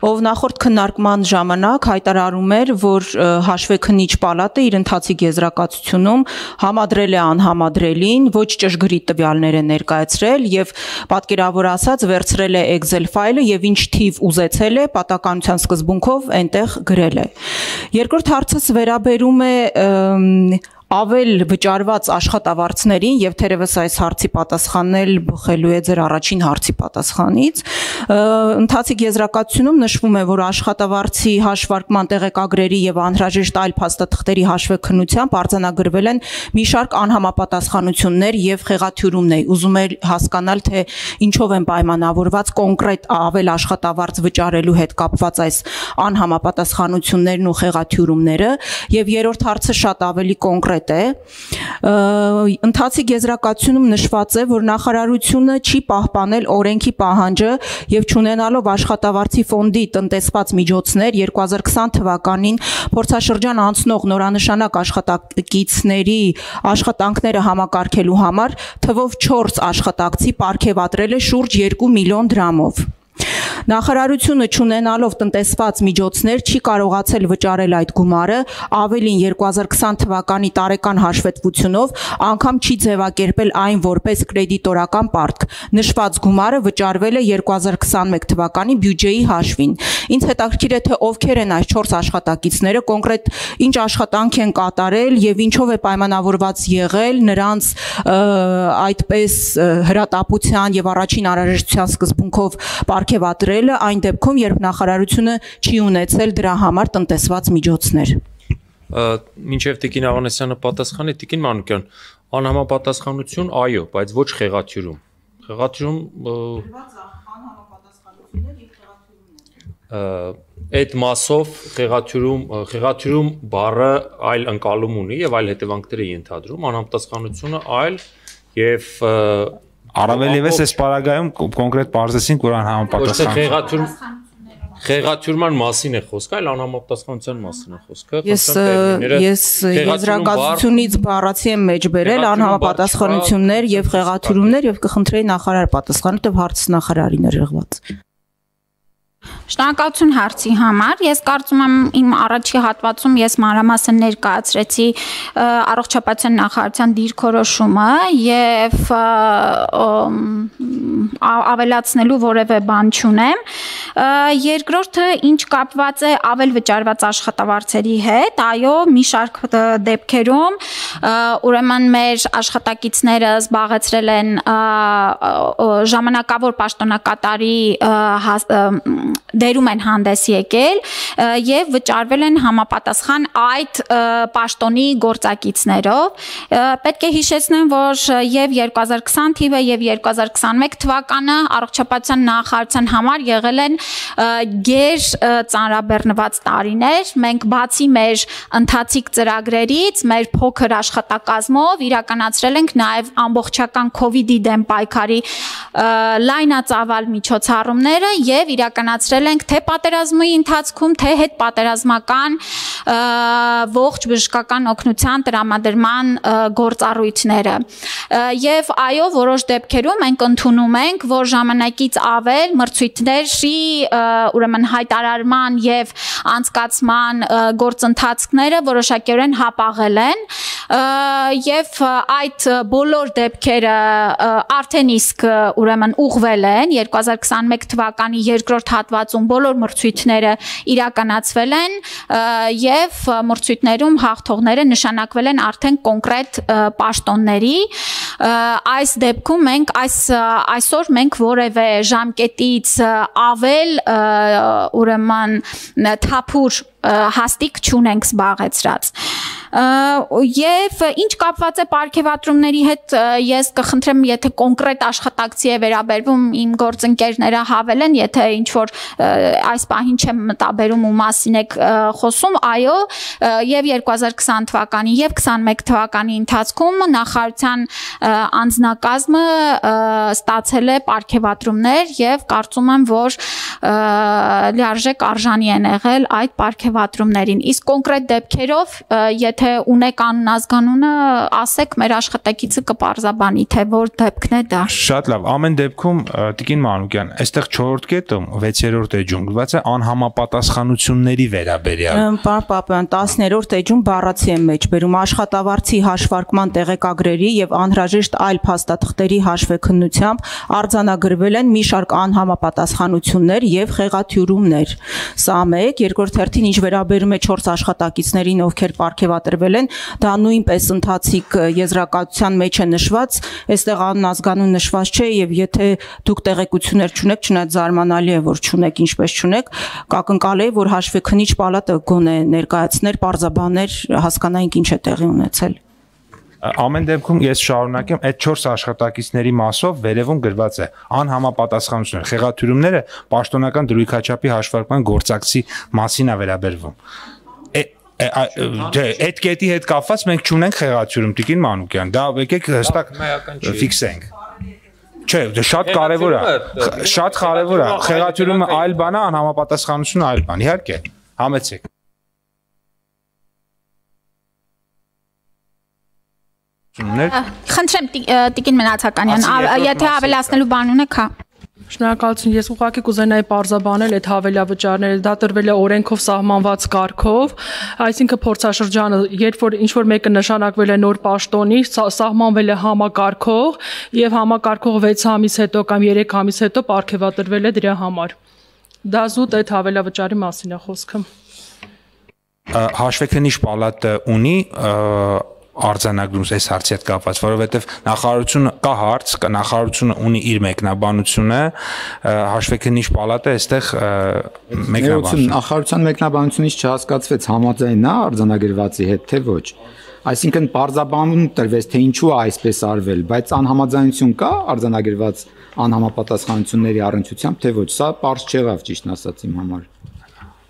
ով նախորդ քննարկման ժամանակ հայտարարում էր, որ հաշվեկնիչ պալատը իր ընթացիկ եզրակացությունում համադրել է անհամադրելին, ոչ ճշգրիտ տվյալներ է ներկայացրել եւ պատկերավոր ասած վերցրել է Excel ֆայլը եւ ինչ թիվ ուզեցել է պատականության սկզբունքով այնտեղ գրել է։ Երկրորդ հարցս վերաբերում է ավել վճարված աշխատավարձներին եւ թերևս այս հարցի պատասխանել բխելու է ձեր առաջին հարցի պատասխանից, ընթացիկ եզրակացությունում նշվում է, որ աշխատավարձի հաշվարկման տեղեկագրերի եւ անհրաժեշտ այլ փաստաթղթերի հաշվեկնությամբ արձանագրվել են մի շարք անհամապատասխանություններ եւ խեղաթյուրումներ։ Ուզում եմ հասկանալ, թե ինչով են պայմանավորված կոնկրետ ավել աշխատավարձ վճարելու հետ կապված այս անհամապատասխանություններն ու խեղաթյուրումները, եւ երրորդ հարցը շատ ավելի կոնկրետ է, ընթացիկ եզրակացությունում նշված է, որ նախարարությունը չի պահպանել օրենքի պահանջը եւ չունենալով աշխատավարձի ֆոնդի տնտեսված միջոցներ երկու հազար քսան թվականին փորձաշրջան անցնող նորանշանակ աշխատակիցների աշխատանքները համակարգելու համար թվով չորս աշխատակցի պարգևատրել է շուրջ երկու միլիոն դրամով։ Նախարարությունը չունենալով տնտեսված միջոցներ չի կարողացել վճարել այդ գումարը, ավելին երկու հազար քսան թվականի տարեկան հաշվետվությունով անգամ չի ձևակերպել այն որպես կրեդիտորական պարտք։ Նշված գումարը վճարվել է երկու հազար քսանմեկ թվականի բյուջեի հաշվին։ Ինձ հետաքրքիր է, թե ովքեր են այս չորս աշխատակիցները, կոնկրետ ինչ աշխատանք են կատարել եւ ինչով է պայմանավորված եղել նրանց այդպես հրատապության եւ առաջին անհրաժեշտության սկզբունքով պարգևատրելը այն դեպքում, երբ նախարարությունը չի ունեցել դրա համար տնտեսված միջոցներ։ Մինչև Տիկին Ավանեսյանը պատասխանի, Տիկին Մանուկյան, անհամապատասխանություն, այո, բայց ոչ խեղաթյուրում։ Խեղաթյուրում այդ մասով խեղաթյուրում խեղաթյուրում բառը այլ ընկալում ունի եւ այլ հետևանքներ է ենթադրում, անհամապատասխանությունը այլ եւ առավել եւս այս պարագայում կոնկրետ բարձրացին, որ անհամապատասխանություն Խեղաթյուրման մասին է խոսքը, այլ անհամապատասխանության մասին է խոսքը։ Ես ես եզրակացությունից բառացի եմ մեջ բերել անհամապատասխանություններ եւ խեղաթյուրումներ եւ կխնդրեի նախարար պատասխանել, որտեղ հարցը նախարարին էր եղված։ Շնորհակալություն հարցի համար։ Ես կարծում եմ իմ առաջի հատվածում ես մանրամասն ներկայացրեցի առողջապահության նախարարության դիրքորոշումը եւ ավելացնելու որևէ բան չունեմ։ Երկրորդը ինչ կապված է ավել վճարված աշխատավարձերի հետ, այո, մի շարք դեպքերում ուրեմն մեր աշխատակիցները զբաղեցրել են ժամանակավոր պաշտոնակատարի դերում են հանդես եկել եւ վճարվել են համապատասխան այդ պաշտոնի գործակիցներով։ Պետք է հիշեցնեմ, որ եւ երկու հազար քսան թիվը եւ երկու հազար քսանմեկ թվականը առողջապահության նախարարության համար եղել են գեր ծանրաբեռնված տարիներ։ Մենք բացի մեր ընթացիկ ծրագրերից, մեր փոքր աշխատակազմով իրականացրել ենք նաեւ ամբողջական կոവിഡ്ի դեմ պայքարի լայնածավալ միջոցառումները եւ իրականացրել ենք թե պատերազմի ընթացքում, թե հետպատերազմական ողջ բժշկական օգնության տրամադրման գործառույթները։ Եվ այո, որոշ դեպքերում մենք ընդունում ենք, որ ժամանակից ավել մրցույթների ուրեմն հայտարարման եւ անցկացման գործընթացները որոշակիորեն հապաղել են եւ այդ բոլոր դեպքերը արդեն իսկ ուրեմն ուղղվել են երկու հազար քսանմեկ թվականի երկրորդ հատվածում բոլոր մրցույթները իրականացվել են եւ մրցույթներում հաղթողները նշանակվել են արդեն կոնկրետ պաշտոնների։ Այս դեպքում մենք այս այսօր մենք որևէ ժամկետից ավել ուրեմն թափուր հաստիկ չունենք զբաղեցրած։ Եվ ինչ կապված է պարգևատրումների հետ, ես կխնդրեմ, եթե կոնկրետ աշխատակցի է վերաբերվում, իմ գործընկերները հավելեն, եթե ինչ որ այս պահին չեմ մտաբերում ու մասին եք խոսում, այո, եւ երկու հազար քսան թվականի եւ քսանմեկ թվականի ընթացքում նախարարության անձնակազմը ստացել է պարգևատրումներ եւ կարծում եմ, որ լիարժեք արժանի են եղել այդ պարգևատրումներին։ Իսկ կոնկրետ դեպքերով, եթե ունեք անունազգանունը, ասեք, մեր աշխատակիցը կպարզաբանի, թե որ դեպքն է դա։ Շատ լավ, ամեն դեպքում Տիկին Մանուկյան, այստեղ չորրորդ կետում վեցերորդ էջում գրված է անհամապատասխանությունների վերաբերյալ։ Պարոն Պապյան, տասներորդ էջում բառացի եմ մեջ բերում աշխատավարձի հաշվարկման տեղեկագրերի եւ անհրաժեշտ այլ փաստաթղթերի հաշվեկնությամբ արձանագրվել են մի շարք անհամապատասխանություններ եւ խեղաթյուրումներ։ Սա մեկ, երկրորդ հերթին ինչ վերաբերում է չորս աշխատակիցներին, ովքեր պարգևատրվել են, դա նույնպես ընթացիկ եզրակացության մեջ է նշված, այստեղ անազգանուն նշված չէ եւ եթե դուք տեղեկություններ չունեք, չնայած զարմանալի է, որ չունեք, ինչպես չունեք, կակնկալեի, որ հաշվեկնիչ պալատը գոնե ներկայացներ, պարզաբաներ, հասկանայինք ինչ է տեղի ունեցել։ Ամեն դեպքում ես շարունակեմ այդ չորս աշխատակիցների մասով վերևում գրված է անհամապատասխանություններ, խեղաթյուրումները պաշտոնական դրույքաչափի հաշվարկման գործակցի մասին է վերաբերվում։ Այդ կետի հետ կապված մենք չունենք խեղաթյուրում, Տիկին Մանուկյան, դա եկեք հստակ ֆիքսենք։ Չէ, դա շատ կարևոր է, շատ կարևոր է, խեղաթյուրումը այլ բան է, անհամապատասխանությունը այլ բան, իհարկե, համեցեք։ Խնդրեմ Տիկին Մնացականյան, եթե ավելացնելու բան ունեք, հա։ Շնորհակալություն, ես ուղղակի կուզենայի պարզաբանել այդ հավելավճարները, դա տրվել է օրենքով սահմանված կարգով, այսինքն փորձաշրջանը, երբ որ ինչ որ մեկը նշանակվել է նոր պաշտոնի, սահմանվել է համակարգող եւ համակարգող վեց ամիս հետո կամ երեք ամիս հետո պարգևատրվել է դրա համար։ Դա զուտ այդ հավելավճարի մասին է խոսքը։ Հաշվեկնիչ պալատը ունի արձանագրում այս հարցի հետ կապված, որովհետև նախարարությունը կա հարց, նախարարությունը ունի իր մեկնաբանությունը, հաշվեկնիչ պալատը այստեղ մեկնաբանություն։ Նախարարության մեկնաբանությունից չհասկացվեց համաձայն է արձանագրվածի հետ, թե ոչ։ Այսինքն պարզաբանում տրվեց, թե ինչու է այսպես արվել, բայց անհամաձայնություն կա արձանագրված անհամապատասխանությունների առնչությամբ, թե ոչ, սա պարզ չեղավ ճիշտն ասած իմ համար։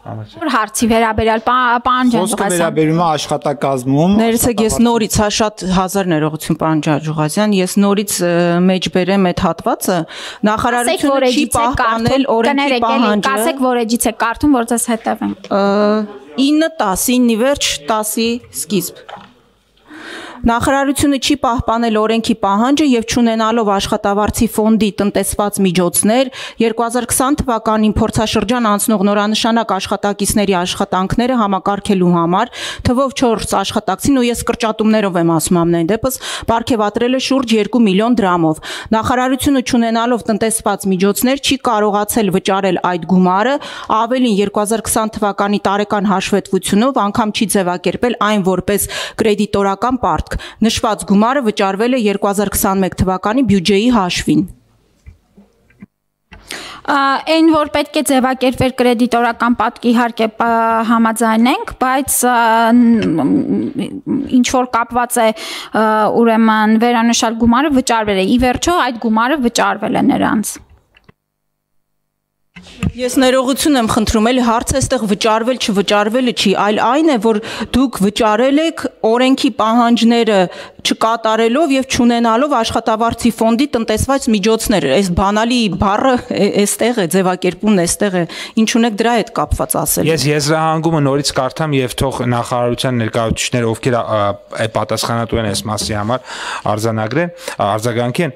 Որ հարցի վերաբերյալ պարոն Ջանջուղազյան։ Խոսքը վերաբերում է աշխատակազմում։ Ներեցեք, ես նորից հա շատ հազար ներողություն պարոն Ջանջուղազյան, ես նորից մեջ բերեմ այդ հատվածը, նախարարությունը չի պահպանել օրենքի պահանջը։ Կասեք, որ էջից է կարդում, որ ձեզ հետևենք։ ինը տասի վերջ տասի սկիզբ։ Նախարարությունը չի պահպանել օրենքի պահանջը եւ չունենալով աշխատավարձի ֆոնդի տնտեսված միջոցներ երկու հազար քսան թվականին փորձաշրջան անցնող նորանշանակ աշխատակիցների աշխատանքները համակարգելու համար թվով չորս աշխատակցին, ու ես կրճատումներով եմ ասում ամեն դեպս, պարգևատրել է շուրջ երկու միլիոն դրամով։ Նախարարությունը չունենալով տնտեսված միջոցներ չի կարողացել վճարել այդ գումարը, ավելին երկու հազար քսան թվականի տարեկան հաշվետվությունով անգամ չի ձևակերպել այն որպես կրեդիտորական պարտք։ Նշված գումարը վճարվել է երկու հազար քսանմեկ թվականի բյուջեի հաշվին։ Այն որ պետք է ձևակերպել կրեդիտորական պատկի իհարկե համաձայնենք, բայց ինչ որ կապված է ուրեմն վերանշյալ գումարը վճարվել է։ Ի վերջո այդ գումարը վճարվել է նրանց։ Ես ներողություն եմ խնդրում, էլի հարցը այստեղ վճարվել չվճարվելը չի, այլ այն է, որ դուք վճարել եք օրենքի պահանջները չկատարելով եւ չունենալով աշխատավարձի ֆոնդի տնտեսված միջոցներ։ Այս բանալի բառը այստեղ է, ձևակերպումն այստեղ է։ Ինչ ունեք դրա հետ կապված ասել։ Ես եզրահանգումը նորից կարդամ եւ թող նախարարության ներկայացուցիչները, ովքեր պատասխանատու են այս մասի համար, արձանագրեն, արձագանքեն,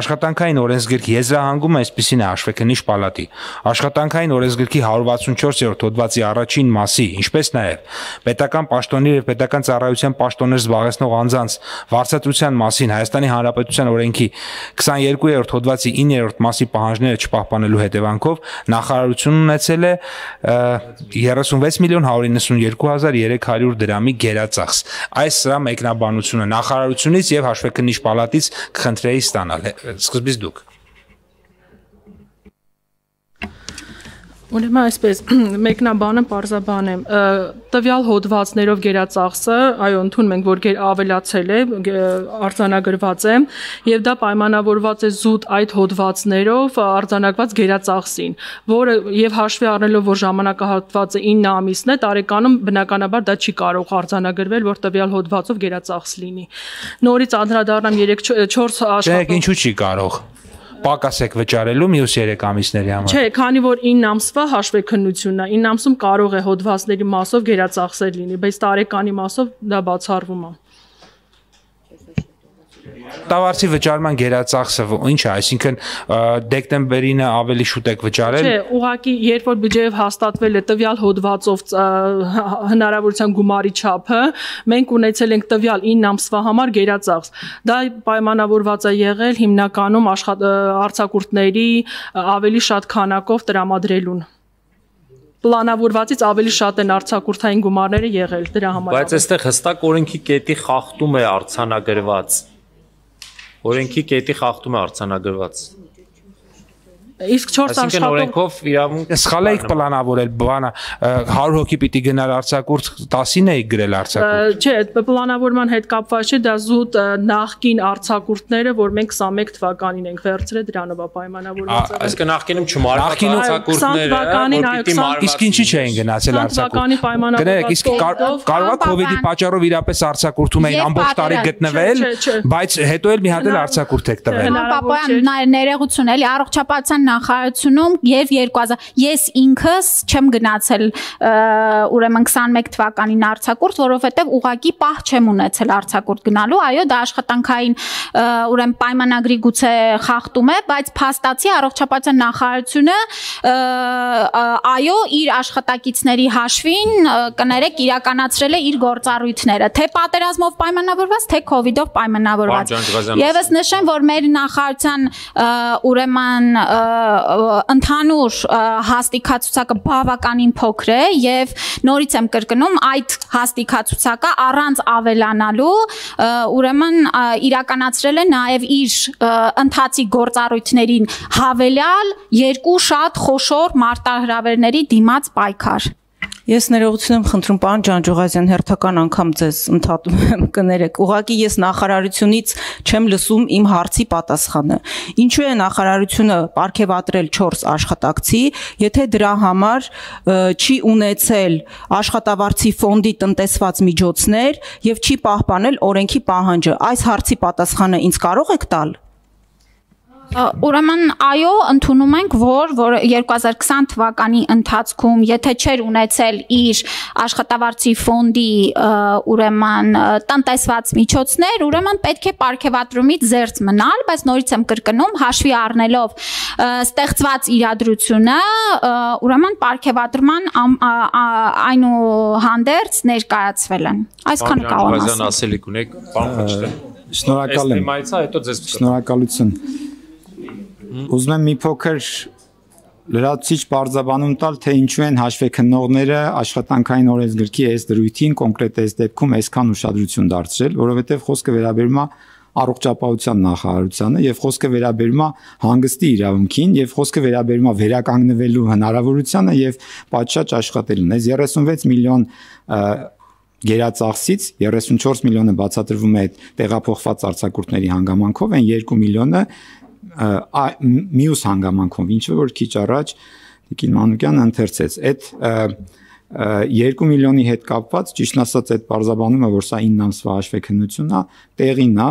աշխատանքային օրենսգրքի եզրահանգումը այսպեսին է հաշվեկնիչ պալատի։ Աշխատանքային օրենսգրքի հարյուր վաթսունչորսերորդ հոդվածի առաջին մասի, ինչպես նաև պետական պաշտոններ եւ պետական ծառայության պաշտոններ զբաղեցնող անձանց վարձատրության մասին Հայաստանի Հանրապետության օրենքի քսաներկուերորդ հոդվածի իններորդ մասի պահանջները չպահպանելու հետևանքով նախարարությունն ունեցել է երեսունվեց միլիոն հարյուր իննսունյոթ հազար երեք հարյուր դրամի գերածախս։ Այս սրա մեկնաբանությունը նախարարությունից եւ հաշվեկնիչ պալատից կխնդրեի ստանալ։ Սկզբից դուք։ Ուրեմն այսպես մեկնաբանը պարզաբան եմ տվյալ հոդվածներով գերածախսը, այո, ընդունում ենք, որ ավելացել է, արձանագրված է եւ դա պայմանավորված է զուտ այդ հոդվածներով արձանագրված գերածախսին, որը եւ հաշվի առնելով, որ ժամանակահատվածը ինը ամիսն է, տարեկանում բնականաբար դա չի կարող արձանագրվել, որ տվյալ հոդվածով գերածախս լինի։ Նորից անդրադառնամ երեք չորս աշխատանք։ Ինչու՞ չի կարող։ Պակասեք վճարելու մյուս երեք ամիսների համար։ Չէ, քանի որ ինը ամսվա հաշվեկնությունն է, ինը ամսում կարող է հոդվածների մասով գերածախսեր լինի, բայց տարեկանի մասով դա բացառվում է։ Տավարցի վճարման գերածախսը ինչ է, այսինքն դեկտեմբերին ավելի շուտ եք վճարել։ Չէ, ուղղակի երբ որ բյուջեով հաստատվել է տվյալ հոդվածով հնարավորության գումարի չափը, մենք ունեցել ենք տվյալ ինը ամսվա համար գերածախս։ Դա պայմանավորված է եղել հիմնականում արձակուրդների ավելի շատ քանակով տրամադրելուն։ Պլանավորվածից ավելի շատ են արձակուրդային գումարները եղել դրա համար։ Բայց այստեղ հստակ օրենքի կետի խախտում է արձանագրված։ Օրենքի կետի խախտում է արձանագրված։ Իսկ չորս Այսինքն օրենքով իրավունք սխալ եք պլանավորել, բանը հարյուր հոգի պիտի գնալ արձակուրդ տասին եք գրել արձակուրդ։ Չէ, պլանավորման հետ կապված չէ, դա զուտ նախկին արձակուրդները, որ մենք քսանմեկ թվականին ենք վերցրել դրանով պայմանավորված։ Այսինքն նախկինում չմարված արձակուրդները, իսկ ինչի չէին գնացել արձակուրդ։ Գնացեք, իսկ կարող է կոവിഡ്ի պատճառով իրապես արձակուրդում էին ամբողջ տարի գտնվել, բայց հետո էլ մի հատ էլ արձակուրդ եք տվել։ Պապոյան ներողություն, էլի առողջապահության նախարարությունում եւ երկու հազար ես ինքս չեմ գնացել ուրեմն twenty-one թվականին արձակուրդ, որովհետեւ ուղակի պահ չեմ ունեցել արձակուրդ գնալու, այո, դա աշխատանքային ուրեմն պայմանագրի գուցե խախտում է, բայց փաստացի առողջապահության նախարարությունը այո, իր աշխատակիցների հաշվին կներեք իրականացրել է իր գործառույթները, թե պատերազմով պայմանավորված, թե կոവിഡով պայմանավորված։ Եվս նշեմ, որ մեր նախարարության ուրեմն ընդհանուր հաստիկացուցակը բավականին փոքր է եւ նորից եմ կրկնում, այդ հաստիկացուցակը առանց ավելանալու ուրեմն իրականացրել է նաեւ իր ընթացիկ գործառույթներին հավելյալ երկու շատ խոշոր մարտահրավերների դիմաց պայքար։ Ես ներողություն եմ խնդրում, պարոն Ջանջուղազյան, հերթական անգամ ձեզ ընդհատում եմ կներեք։ Ուղղակի ես նախարարությունից չեմ լսում իմ հարցի պատասխանը։ Ինչու է նախարարությունը պարգևատրել չորս աշխատակցի, եթե դրա համար չի ունեցել աշխատավարձի ֆոնդի տնտեսված միջոցներ եւ չի պահպանել օրենքի պահանջը։ Այս հարցի պատասխանը ինձ կարող եք տալ։ Ուրեմն այո, ընդունում ենք, որ որ twenty twenty թվականի ընթացքում, եթե չէր ունեցել իր աշխատավարձի ֆոնդի ուրեմն տնտեսված միջոցներ, ուրեմն պետք է պարգևատրումից զերծ մնալ, բայց նորից եմ կրկնում, հաշվի առնելով ստեղծված իրադրությունը, ուրեմն պարգևատրման այնուհանդերձ ներկայացվել են։ Այսքանը կարող եմ ասել։ Ասելիք ունեք, պարոն Խաչատրյան։ Շնորհակալ եմ։ Հետո ձեզ շնորհակալություն։ Ուզում եմ մի փոքր լրացուցիչ բարձրաբանում տալ, թե ինչու են հաշվեկնողները աշխատանքային օրենսգրքի այս դրույթին կոնկրետ այս դեպքում այսքան ուշադրություն դարձրել, որովհետև խոսքը վերաբերում է առողջապահության նախարարությանը եւ խոսքը վերաբերում է հանգստի իրավունքին եւ խոսքը վերաբերում է վերականգնվելու հնարավորությանը եւ պատշաճ աշխատելուն։ Այս thirty-six միլիոն գերածախսից thirty-four միլիոնը բացատրվում է տեղափոխված արձակուրդների հանգամանքով, այն two միլիոնը մյուս հանգամանքով, ինչը որ քիչ առաջ Տիկին Մանուկյանը ընթերցեց, այդ two միլիոնի հետ կապված, ճիշտն ասած, այդ բարձաբանումը, որ սա nine ամսվա հաշվեկնությունն է, տեղին է,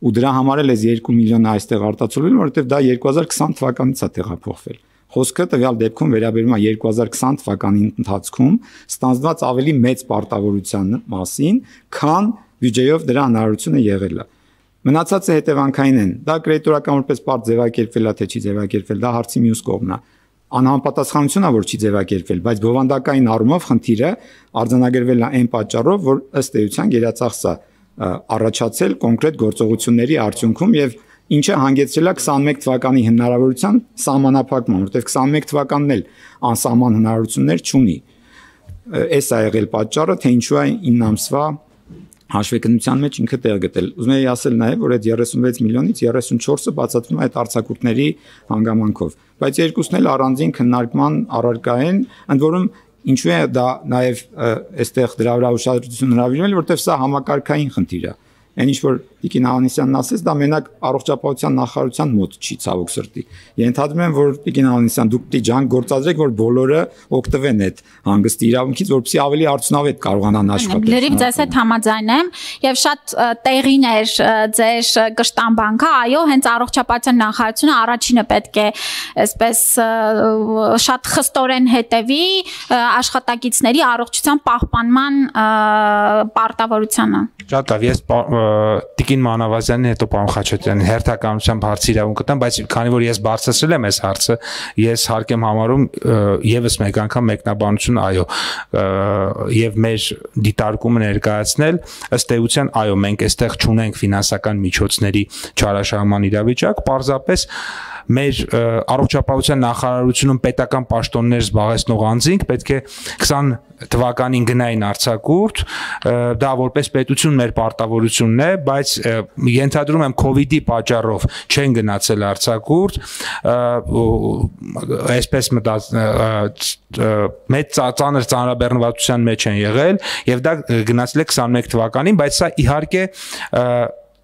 ու դրա համար էլ այս two միլիոնը այստեղ արտացոլվել, որովհետև դա twenty twenty թվականից է տեղափոխվել։ Խոսքը տվյալ դեպքում վերաբերում է twenty twenty թվականի ընթացքում ստանձնված ավելի մեծ պարտավորության մասին, քան բյուջեով դրա հնարավորությունը եղել է։ Մնացածը հետևանքային են։ Դա կրեդիտորական որպես պարտ ձևակերպվել է, թե չի ձևակերպվել, դա հարցի մյուս կողմն է։ Անհամապատասխանությունն է, որ չի ձևակերպվել, բայց բովանդակային առումով խնդիրը արձանագրվել է այն պատճառով, որ ըստ էության գերածախսը առաջացել կոնկրետ գործողությունների արդյունքում եւ ինչը հանգեցրել է twenty-one թվականի հնարավորության սահմանափակման, որտեղ twenty-one թվականն էլ անսահման հնարավորություններ չունի։ Էս է եղել պատճառը, թե ինչու է nine ամսվա հաշվեկնության մեջ ինքը տեղ գտել։ Ուզում եի ասել նաև, որ այդ thirty-six միլիոնից thirty-four-ը բացատրվում է այդ արձակուրդների հանգամանքով, բայց երկուսն էլ առանձին քննարկման առարկա են, ընդ որում ինչու է դա նաև այստեղ դրա վրա ուշադրություն հրավիրվել, որտեղ սա համակարգային խնդիր է։ Այն ինչ որ Տիկին Ավանեսյանն ասեց, դա մենակ առողջապահության նախարարության մոտ չի ցավոք սրտի։ Ենթադրում եմ, որ Տիկին Ավանեսյան դուք պիտի ջանք գործադրեք, որ բոլորը օգտվեն այդ հանգստի իրավունքից, որպեսզի ավելի արդյունավետ կարողանան աշխատել։ Լրիվ ձեզ հետ համաձայն եմ եւ շատ տեղին էր ձեր կշտամբանքը, այո, հենց առողջապահության նախարարությունը առաջինը պետք է այսպես շատ խստորեն հետևի աշխատակիցների առողջության պահպանման պարտավորությանը։ Շատ լավ, ես Տիկին Մանավազյանին, հետո պարոն Խաչատրյանին հերթականությամբ հարցի իրավունք կտամ, բայց քանի որ ես բարձրացրել եմ այս հարցը, ես հարկ եմ համարում եւս մեկ անգամ մեկնաբանություն, այո, եւ մեր դիտարկումը ներկայացնել, ըստ էության, այո, մենք այստեղ չունենք ֆինանսական միջոցների չարաշահման իրավիճակ, պարզապես մեր առողջապահության նախարարությունում պետական պաշտոններ զբաղեցնող անձինք պետք է twenty թվականին գնային արձակուրդ, դա որպես պետություն մեր պարտավորությունն է, բայց ենթադրում եմ կոവിഡի պատճառով չեն գնացել արձակուրդ, այսպես մտած մեծ ծանր ծանրաբեռնվածության մեջ են եղել եւ դա գնացել է twenty-one թվականին, բայց սա իհարկե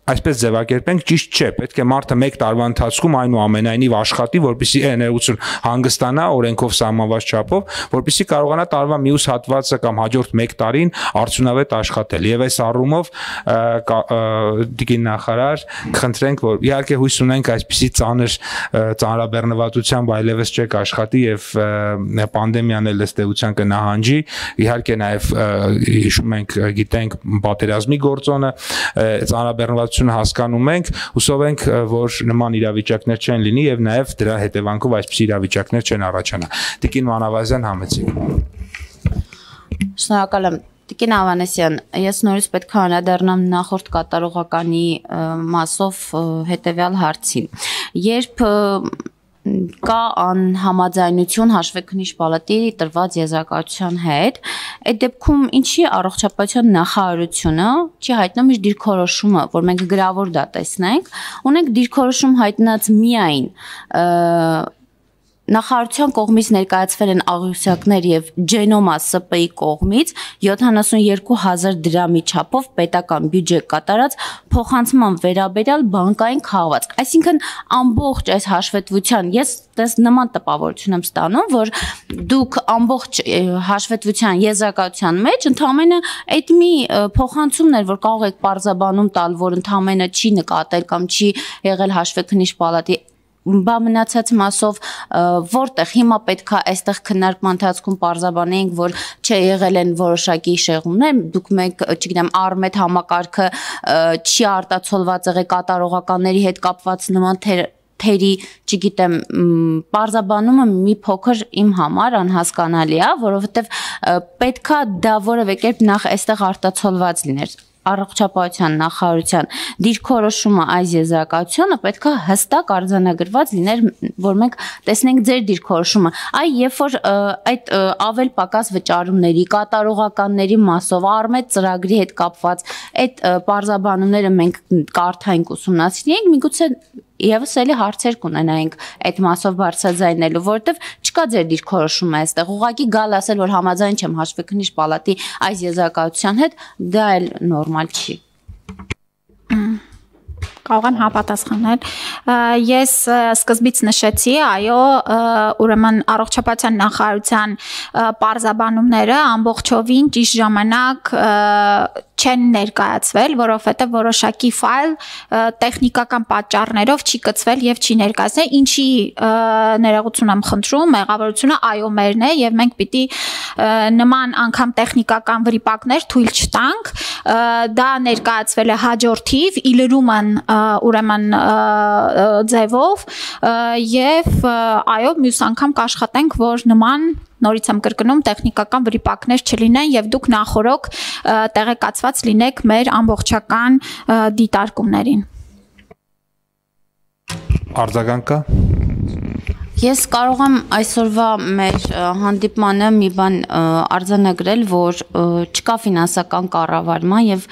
այսպես ձևակերպենք, ճիշտ չէ, պետք է մարդը մեկ տարվա ընթացքում այնուամենայնիվ աշխատի, որպեսզի ներողություն հանգստանա օրենքով սահմանված չափով, որպեսզի կարողանա տարվա մյուս հատվածը կամ հաջորդ մեկ տարին արդյունավետ աշխատել։ Եվ այս առումով դիգին նախարար, կխնդրենք, որ իհարկե հույս ունենք այսպիսի ծանր ծանրաբեռնվածությամբ այլևս չեք աշխատի եւ պանդեմիան էլ ըստ էության կնահանջի, իհարկե նաեւ հիշում ենք, գիտենք պատերազմի գործոնը, ծանրաբեռնվածությունը հասկանում ենք, հուսով ենք, որ նման իրավիճակներ չեն լինի եւ նաեւ դրա հետևանքով այսպիսի իրավիճակներ չեն առաջանա։ Տիկին Մանավազյան, Համեցիկ։ Շնորհակալ եմ։ Տիկին Ավանեսյան, ես նորից պետք է անդրադառնամ նախորդ կատարողականի մասով հետեւյալ հարցին։ Երբ կա անհամաձայնություն հաշվեկնիչ պալատի տրված եզրակացության հետ, այդ դեպքում ինչի առողջապահության նախարարությունը չի հայտնում իր դիրքորոշումը, որ մենք գրավոր դա տեսնենք, ունենք դիրքորոշում հայտնած միայն նախարարության կողմից ներկայացվել են աղյուսակներ եւ Genoma S P-ի կողմից յոթանասունյոթ հազար դրամի չափով պետական բյուջե կատարած փոխանցման վերաբերյալ բանկային քաղվածք։ Այսինքն ամբողջ այս հաշվետվության ես դες նման տպավորություն եմ ստանում, որ դուք ամբողջ հաշվետվության եզրակացության մեջ ընդհանրապես այդ մի փոխանցումն էր, որ կարող եք պարզաբանում տալ, որ ընդհանրապես չի նկատել կամ չի եղել հաշվեկնիչ պալատի բա մնացած մասով որտեղ հիմա պետքա այստեղ քննարկման ընթացքում պարզաբանենք, որ չէ եղել են որոշակի շեղումներ, դուք մեկ, չգիտեմ, Արմետ համակարգը չի արտացոլված եղել կատարողականների հետ կապված նման թերի, չգիտեմ, պարզաբանումը մի փոքր իմ համար անհասկանալի է, որովհետև պետքա դա որևէ կերպ նախ այստեղ արտացոլված լիներ։ Առողջապահության նախարարության դիրքորոշումը այս եզրակացությունը պետքա հստակ արձանագրված լիներ, որ մենք տեսնենք ձեր դիրքորոշումը։ Այ երբ որ այդ ավել պակաս վճարումների, կատարողականների մասով Արմետ ծրագրի հետ կապված այդ պարզաբանումները մենք կարդայինք, ուսումնասիրենք, միգուցե եւս էլի հարցեր կունենայինք այդ մասով բարձրաձայնելու, որովհետեւ չկա ձեր դիրքորոշումը այստեղ։ Ուղղակի գալ ասել, որ համաձայն չեմ հաշվեկնիչ պալատի այս եզրակացության հետ, դա էլ նորմալ չի։ Կարող եմ համապատասխանել։ Ես սկզբից նշեցի, այո, ուրեմն առողջապահության նախարարության պարզաբանումները ամբողջովին ճիշտ ժամանակ չեն ներկայացվել, որովհետև որոշակի ֆայլ տեխնիկական պատճառներով չի կցվել եւ չի ներկայացնել, ինչի ներողություն եմ խնդրում, մեղավորությունը այո մերն է եւ մենք պիտի նման անգամ տեխնիկական վրիպակներ թույլ չտանք, դա ներկայացվել է հաջորդիվ իլրումն ուրեմն ձևով եւ այո մյուս անգամ կաշխատենք, որ նման նորից եմ կրկնում տեխնիկական վրիպակներ չլինեն եւ դուք նախորոք տեղեկացված լինեք մեր ամբողջական դիտարկումներին։ Արձագանքը Ես կարող եմ այսօրվա մեր հանդիպմանը մի բան արձանագրել, որ չկա ֆինանսական կառավարման եւ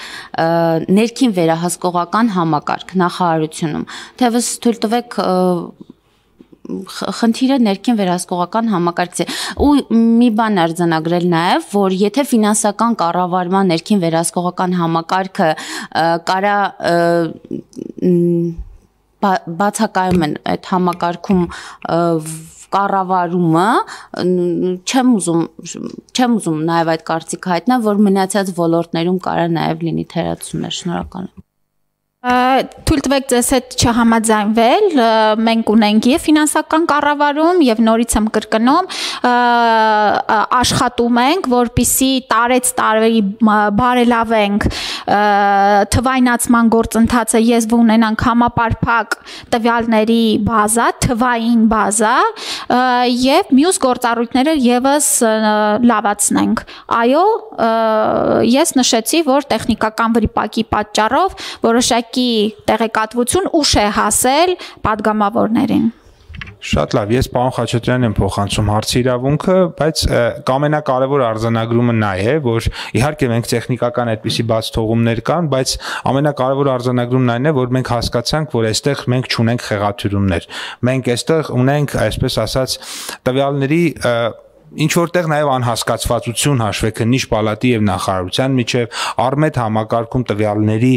ներքին վերահսկողական համակարգ նախարարությունում։ Թեւս թույլ տվեք խնդիրը ներքին վերահսկողական համակարգից է։ Ու մի բան արձանագրել նաեւ, որ եթե ֆինանսական կառավարման ներքին վերահսկողական համակարգը կարա բացակայում են այդ համակարգում կառավարումը, չեմ ուզում չեմ ուզում նաև այդ կարծիքը հայտնել, որ մնացած ոլորտներում կարա նաև լինի թերացումներ։ Շնորհակալ եմ։ Թույլ տվեք ձեզ հետ չհամաձայնվել, մենք ունենք եւ ֆինանսական կառավարում եւ նորից եմ կրկնում, աշխատում ենք, որպիսի տարեց տարի բարելավենք թվայնացման գործընթացը, ես ունենանք համապարփակ տվյալների բազա, թվային բազա եւ մյուս գործառույթները եւս լավացնենք։ Այո, ես նշեցի, որ տեխնիկական վրիպակի պատճառով որոշակի տեղեկատվություն ուշ է հասել падգամավորներին։ Շատ լավ, ես պարոն Խաչատրյանն եմ փոխանցում հարցի իրավունքը, բայց ամենակարևոր արձանագրումը նա է, որ իհարկե մենք տեխնիկական այդպիսի բաց թողումներ կան, բայց ամենակարևոր արձանագրումն այն է, որ մենք հասկացանք, որ այստեղ մենք չունենք խեղաթյուրումներ։ Մենք այստեղ ունենք, այսպես ասած, տվյալների ինչ որտեղ նաև անհասկացվածություն հաշվեկնիչ պալատի եւ նախարարության միջև առմետ համակարգում տվյալների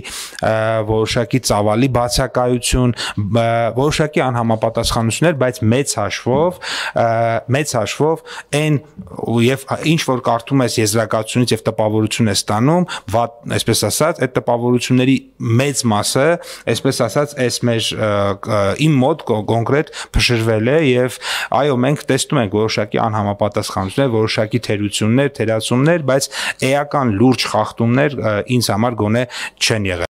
որոշակի ծավալի բացակայություն, որոշակի անհամապատասխանություններ, բայց մեծ հաշվով, մեծ հաշվով այն եւ ինչ որ կարդում ես եզրակացությունից եւ տպավորություն ես ստանում, այսպես ասած, այդ տպավորությունների մեծ մասը, այսպես ասած, այս մեր իմ մոտ կոնկրետ փշրվել է եւ այո, մենք տեսնում ենք որոշակի անհամապատասխանություններ, որոշակի թերություններ, թերացումներ, բայց էական լուրջ խախտումներ ինձ համար գոնե չեն եղել։